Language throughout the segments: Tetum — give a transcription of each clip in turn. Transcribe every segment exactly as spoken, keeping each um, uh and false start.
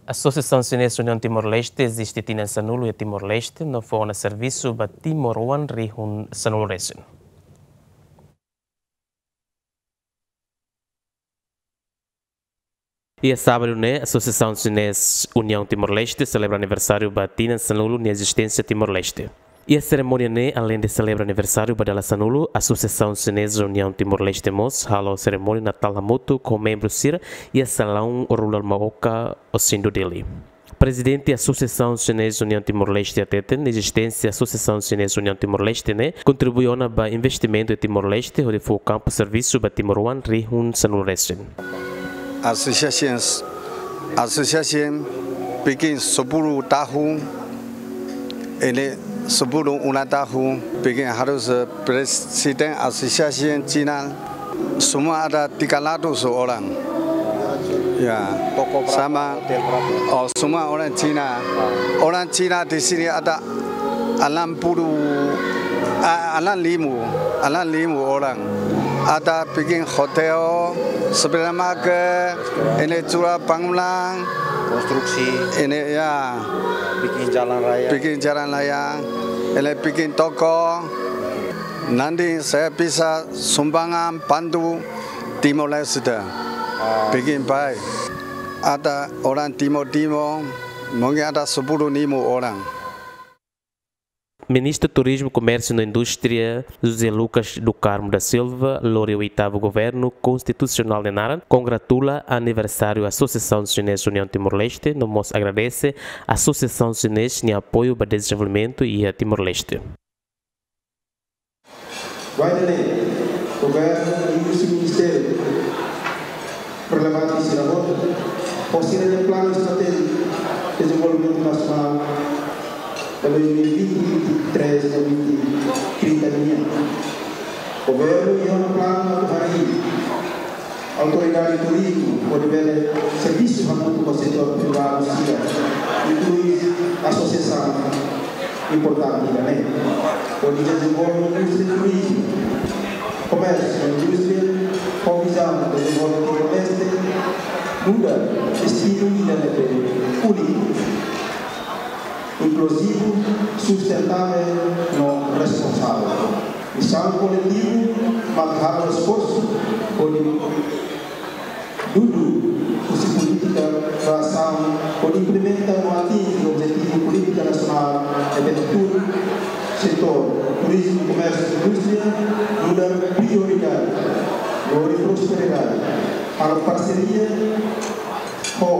Asosiasaun Xinés Uniaun Timor-Leste eziste tinan sanulu iha Timor-Leste, no fó ona servisu ba timoroan rihun sanulu resin. Iha sábadu ne'e, Asosiasaun Xinés Uniaun Timor-Leste selebra aniversáriu ba tinan sanulu nia ezisténsia Timor-Leste. Iha serimónia ne'e, aleinde selebra aniversáriu ba dala sanulu, Asosiasaun Xinés Uniaun Timor-Leste mós halo serimónia Natál hamutuk ho membru sira iha Salaun Rural Maoka, Osindu, Dili. Prezidente Asosiasaun Xinés Uniaun Timor-Leste hateten, ezisténsia Asosiasaun Xinés Uniaun Timor-Leste ne'e kontribui ona ba investimentu iha Timor-Leste, hodi fó kampu servisu ba timoroan rihun sanulu resin. Asosiasaun, asosiasaun bikin sepuluh tahun, iha sepuluh ulang tahun, bikin harus, eh, prezidente asosiasaun Xina, semua ada tiga ratus orang. Ya, toko berapa, sama, hotel berapa? Oh, semua orang Cina. Ah. Orang Cina di sini ada enam puluh, ah, enam lima, enam lima orang. Ada bikin hotel, supermarket, ini jual bangunan. Konstruksi. Ini, ya. Bikin jalan raya. Bikin jalan raya. Ini bikin toko. Nanti saya bisa sumbangan bantu Timor-Leste. Ah. Bikin baik. Ada orang Timor-Timor, mungkin ada sepuluh ribu orang. Ministru Turizmu, Komérsiu no Indústria, José Lucas do Carmo da Silva, lori oitavu Governu Konstitusionál nia naran, kongratula aniversáriu Asosiasaun Xinés Uniaun Timor-Leste, no mós agradese Asosiasaun Xinés nia apoiu ba dezenvolvimentu iha Timor-Leste. Vai dele, Governu, Indústria, Ministériu relevante sira hotu, ho sira-nia Planu Estratéjiku Dezenvolvimentu Nasionál dois mil e vinte, vinte e três, dois mil e trinta nian. Governu iha ona planu atu harii Autoridade Turizmu hodi bele servisu hamutuk ho setór privadu sira, inklui asosiasaun importante ida-ne'e, hodi dezenvolve indústria turizmu, komérsiu, indústria, ho vizaun dezenvolve Timor-Leste nu'udar destinu ida ne'ebé úniku, inkluzivu, sustentável no responsavel. Misaun koletivu mak halo esforsu hodi dudu husi polítika ba asaun hodi implementa no atinje objetivu polítika nasionál ne'ebé tuur setór turizmu, komérsiu, indústria nu'udar prioridade, lori prosperidade, halo parseria ho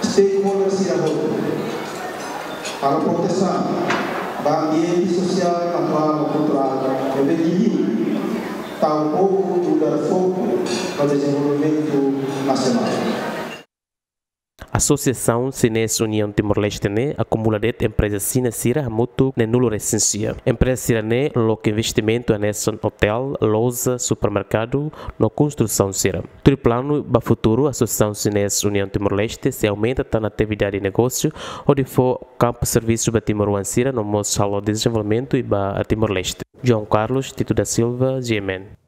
stakeholder sira hotu, halo protesaun ba ambiente sosiál, naturál no kulturál ne'ebé liuliu tau povu nu'udar foku ba dezenvolvimentu nasionál. Asosiasaun Xinés Uniaun Timor-Leste ne'e akumula de'it empreza Xina sira hamutuk neenulu resin sia. Empreza sira-ne'e loke investimentu hanesan otél, loja, supermerkadu no konstrusaun sira. Tuir planu ba futuru, Asosiasaun Xinés Uniaun Timor-Leste sei aumenta tan atividade negósiu, hodi fó kampu servisu ba timoroan sira no mós halo dezenvolvimentu iha Timor-Leste. João Carlos Tito da Silva, G M N.